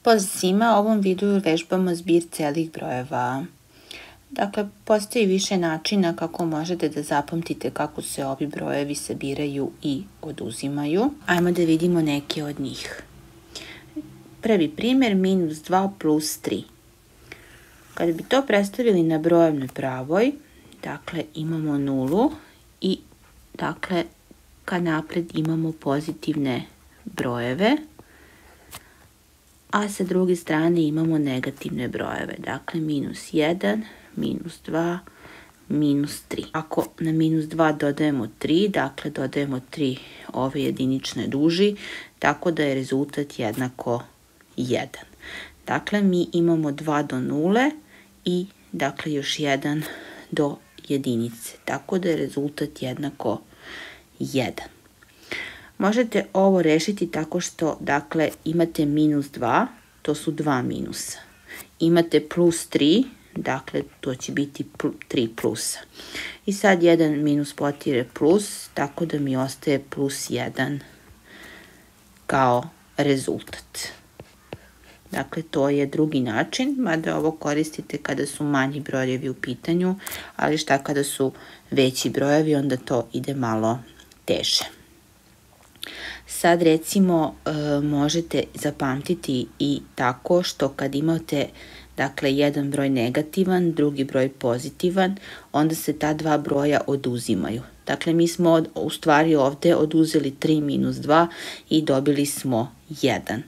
Pozdrav svima, u ovom videu vežbamo zbir celih brojeva. Dakle, postoji više načina kako možete da zapamtite kako se ovi brojevi sabiraju i oduzimaju. Ajmo da vidimo neke od njih. Prvi primjer, -2 plus 3. Kada bi to predstavili na brojevnoj pravoj, dakle imamo nulu i dakle kad napred imamo pozitivne brojeve, a sa druge strane imamo negativne brojeve, dakle -1, -2, -3. Ako na -2 dodajemo 3, dakle dodajemo 3 ove jedinične duži, tako da je rezultat jednako 1. Dakle, mi imamo 2 do 0 i dakle još 1 do jedinice, tako da je rezultat jednako 1. Možete ovo rešiti tako što, dakle, imate -2, to su dva minusa. Imate +3, dakle, to će biti 3 plusa. I sad jedan minus potire plus, tako da mi ostaje +1 kao rezultat. Dakle, to je drugi način, mada ovo koristite kada su manji brojevi u pitanju, ali šta kada su veći brojevi, onda to ide malo teže. Sad recimo možete zapamtiti i tako što kad imate dakle jedan broj negativan, drugi broj pozitivan, onda se ta dva broja oduzimaju. Dakle, mi smo u stvari ovde oduzeli 3 minus 2 i dobili smo 1.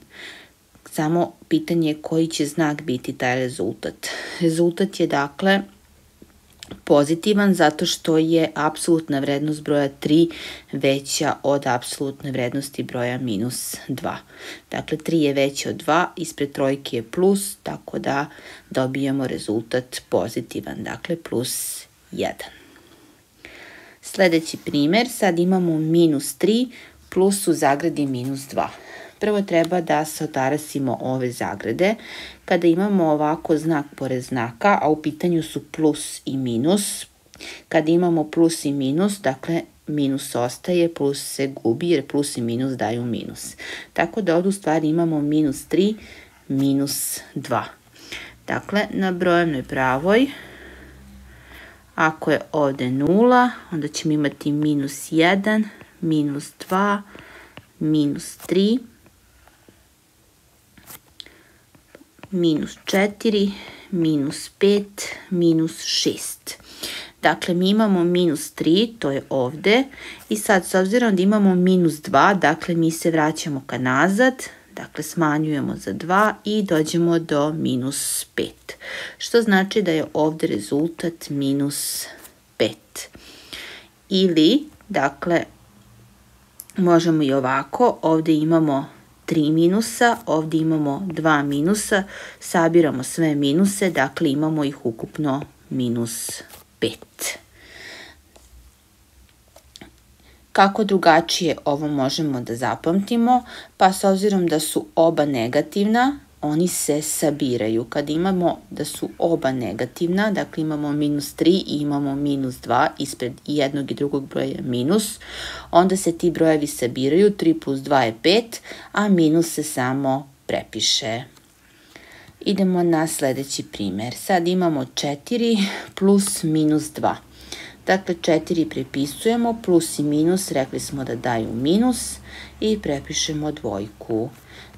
Samo pitanje je koji će znak biti taj rezultat. Rezultat je dakle pozitivan zato što je apsolutna vrednost broja 3 veća od apsolutne vrednosti broja -2. Dakle, 3 je veće od 2, ispred trojke je plus, tako da dobijamo rezultat pozitivan, dakle +1. Sledeći primer, sad imamo -3 plus u zagradi -2. Prvo treba da se otarasimo ove zagrade. Kada imamo ovako znak pored znaka, a u pitanju su plus i minus, kada imamo plus i minus, dakle minus ostaje, plus se gubi jer plus i minus daju minus. Tako da ovdje u stvari imamo -3, -2. Dakle, na brojevnoj pravoj, ako je ovde 0, onda ćemo imati -1, -2, -3, -4, -5, -6. Dakle, mi imamo -3, to je ovde, i sad s obzirom da imamo -2, dakle mi se vraćamo ka nazad, dakle smanjujemo za 2 i dođemo do -5, što znači da je ovde rezultat -5. Ili, dakle, možemo i ovako, ovde imamo 3 minusa, ovdje imamo 2 minusa, sabiramo sve minuse, dakle imamo ih ukupno -5. Kako drugačije ovo možemo da zapamtimo? Pa s obzirom da su oba negativna, oni se sabiraju. Kad imamo da su oba negativna, dakle imamo -3 i imamo -2, ispred jednog i drugog broja minus, onda se ti brojevi sabiraju, 3 plus 2 je 5, a minus se samo prepiše. Idemo na sledeći primer. Sad imamo 4 plus -2. Dakle, 4 prepisujemo, plus i minus, rekli smo da daju minus, i prepišemo dvojku.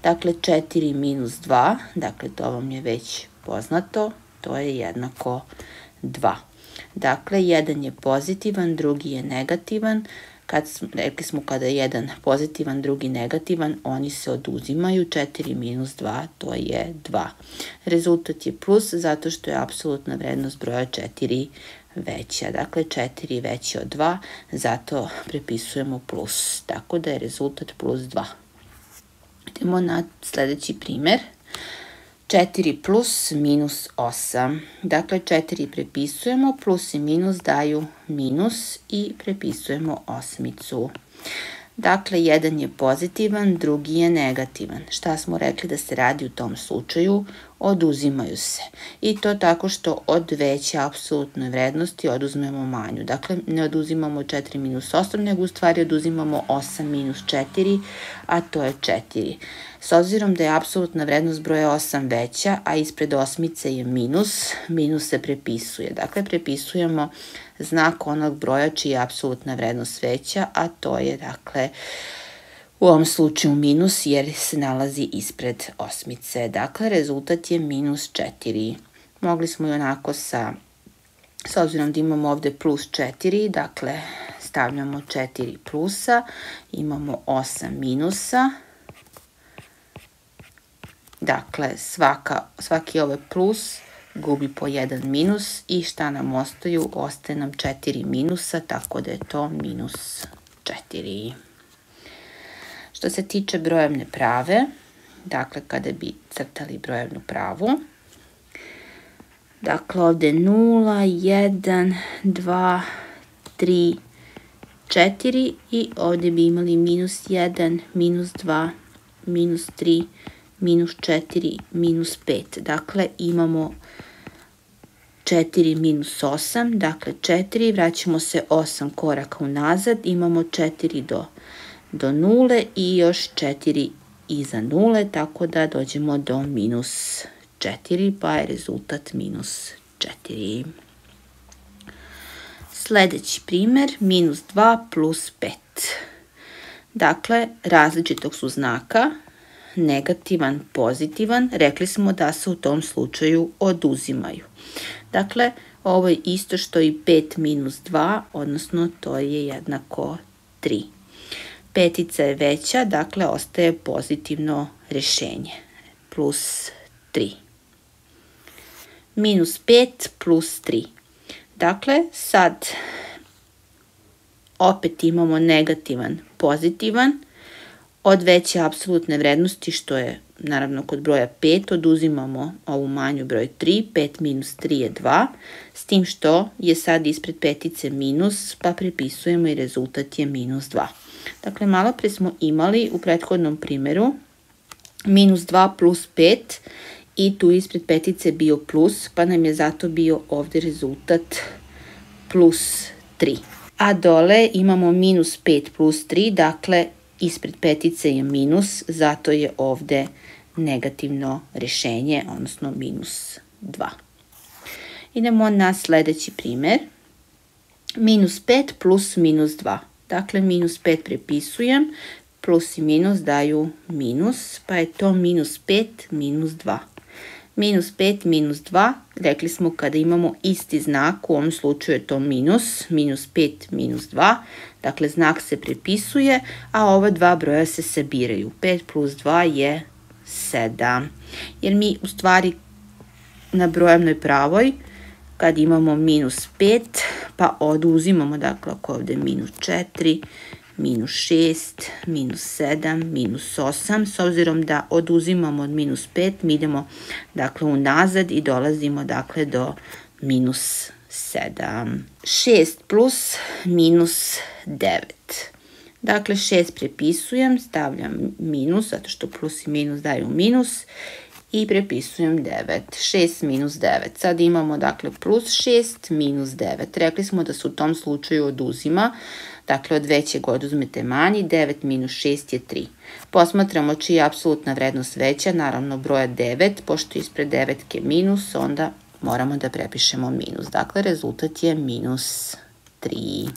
Dakle, 4 minus 2, dakle to vam je već poznato, to je jednako 2. Dakle, jedan je pozitivan, drugi je negativan. Rekli smo kada je jedan pozitivan, drugi negativan, oni se oduzimaju. 4 minus 2, to je 2. Rezultat je plus zato što je apsolutna vrednost broja 4 veća. Dakle, 4 veće od 2, zato prepisujemo plus. Tako da je rezultat +2. Idemo na sledeći primer. 4 plus -8. Dakle, 4 prepisujemo, plus i minus daju minus i prepisujemo osmicu. Dakle, jedan je pozitivan, drugi je negativan. Šta smo rekli da se radi u tom slučaju? oduzimaju se. I to tako što od veće apsolutne vrednosti oduzmemo manju. Dakle, ne oduzimamo 4 minus 8, nego u stvari oduzimamo 8 minus 4, a to je 4. S obzirom da je apsolutna vrednost broja 8 veća, a ispred osmice je minus, minus se prepisuje. Dakle, prepisujemo znak onog broja čija je apsolutna vrednost veća, a to je, dakle, u ovom slučaju minus jer se nalazi ispred osmice. Dakle, rezultat je minus 4. Mogli smo i onako s obzirom da imamo ovde plus 4, dakle, stavljamo 4 plusa, imamo 8 minusa. Dakle, svaki ovaj plus gubi po jedan minus i šta nam ostaju? Ostaje nam 4 minusa, tako da je to minus 4. Što se tiče brojevne prave, dakle, kada bi crtali brojevnu pravu, dakle, ovde 0, 1, 2, 3, 4 i ovde bi imali minus 1, minus 2, minus 3, minus 4, minus 5. Dakle, imamo 4 minus 8, dakle 4, vraćamo se 8 koraka unazad, imamo 4 do 0 i još 4 iza 0, tako da dođemo do minus 4, pa je rezultat minus 4. Sljedeći primjer, minus 2 plus 5. Dakle, različitog su znaka, negativan, pozitivan, rekli smo da se u tom slučaju oduzimaju. Dakle, ovo je isto što i 5 minus 2, odnosno to je jednako 3. Petica je veća, dakle ostaje pozitivno rješenje, plus 3. Minus 5 plus 3. Dakle, sad opet imamo negativan, pozitivan, od veće apsolutne vrednosti, što je naravno kod broja 5, oduzimamo ovu manju broj 3, 5 minus 3 je 2, s tim što je sad ispred petice minus, pa prepisujemo i rezultat je minus 2. Dakle, malo pre smo imali u prethodnom primjeru minus 2 plus 5 i tu ispred petice bio plus, pa nam je zato bio ovde rezultat plus 3. A dole imamo minus 5 plus 3, dakle, ispred petice je minus, zato je ovde negativno rješenje, odnosno minus 2. Idemo na sljedeći primjer. Minus 5 plus minus 2. Dakle, minus 5 prepisujem, plus i minus daju minus, pa je to minus 5 minus 2. Minus 5 minus 2, rekli smo kada imamo isti znak, u ovom slučaju je to minus, minus 5 minus 2, dakle znak se prepisuje, a ova dva broja se sabiraju. 5 plus 2 je 7, jer mi u stvari na brojevnoj pravoj, kad imamo minus 5, pa oduzimamo, dakle ako ovde minus 4, minus 6, minus 7, minus 8, s obzirom da oduzimamo od minus 5, mi idemo dakle unazad i dolazimo dakle do minus 7. 6 plus minus 9. Dakle 6 prepisujem, stavljam minus, zato što plus i minus daju minus, i prepisujem 9. 6 minus 9. Sad imamo dakle plus 6 minus 9. Rekli smo da se u tom slučaju oduzima. Dakle, od većeg oduzmete manji, 9 minus 6 je 3. Posmatramo čija je apsolutna vrednost veća, naravno broja 9, pošto ispred devetke minus, onda moramo da prepišemo minus. Dakle, rezultat je minus 3.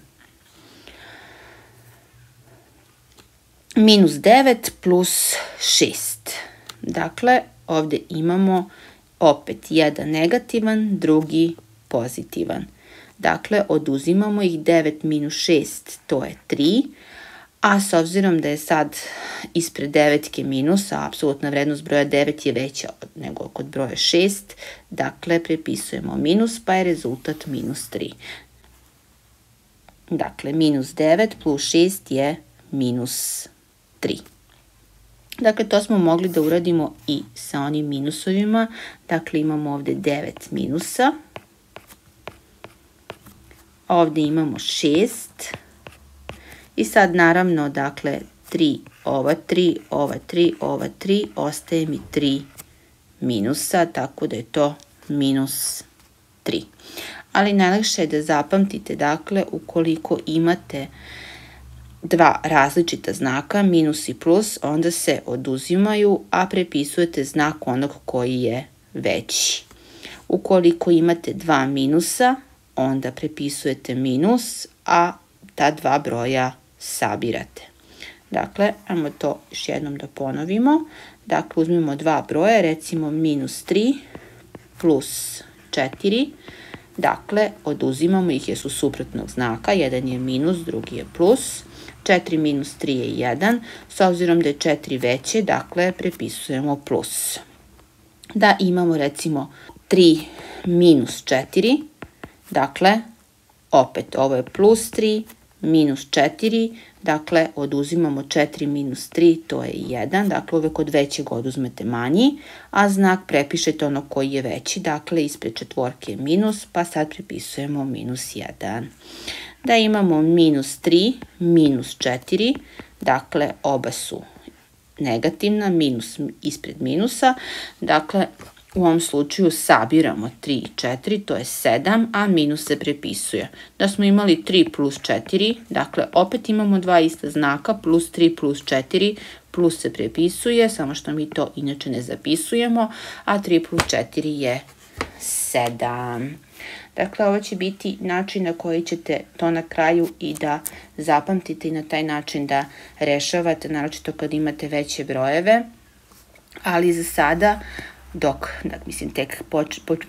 Minus 9 plus 6. Dakle, ovde imamo opet jedan negativan, drugi pozitivan. Dakle, oduzimamo ih, 9 minus 6, to je 3, a s obzirom da je sad ispred devetke minus, a apsolutna vrednost broja 9 je veća nego kod broja 6, dakle, prepisujemo minus, pa je rezultat minus 3. Dakle, minus 9 plus 6 je minus 3. Dakle, to smo mogli da uradimo i sa onim minusovima. Dakle, imamo ovde 9 minusa. Ovde imamo 6. I sad, naravno, dakle, 3, ova 3, ova 3, ova 3, ostaje mi 3 minusa, tako da je to minus 3. Ali najlakše je da zapamtite, dakle, ukoliko imate dva različita znaka, minus i plus, onda se oduzimaju, a prepisujete znak onog koji je veći. Ukoliko imate dva minusa, onda prepisujete minus, a ta dva broja sabirate. Dakle, ajmo to još jednom da ponovimo. Dakle, uzmemo dva broja, recimo minus 3 plus 4. Dakle, oduzimamo ih jer su suprotnog znaka. Jedan je minus, drugi je plus. 4 minus 3 je 1. S obzirom da je 4 veće, dakle, prepisujemo plus. Da imamo, recimo, 3 minus 4. Dakle, opet, ovo je plus 3, minus 4. Dakle, oduzimamo 4 minus 3, to je 1. Dakle, uvek od većeg oduzmete manji, a znak prepišete ono koji je veći. Dakle, ispred četvorke je minus, pa sad prepisujemo minus 1. Da imamo minus 3, minus 4. Dakle, oba su negativna, minus ispred minusa. Dakle, u ovom slučaju sabiramo 3 i 4, to je 7, a minus se prepisuje. Da smo imali 3 plus 4, dakle opet imamo dva ista znaka, plus 3 plus 4, plus se prepisuje, samo što mi to inače ne zapisujemo, a 3 plus 4 je 7. Dakle, ovo će biti način na koji ćete to na kraju i da zapamtite i na taj način da rešavate, naročito kad imate veće brojeve, ali za sada dok, tek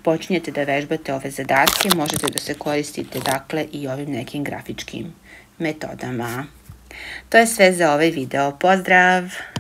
počinjete da vežbate ove zadatke, možete da se koristite, dakle, i ovim nekim grafičkim metodama. To je sve za ovaj video. Pozdrav!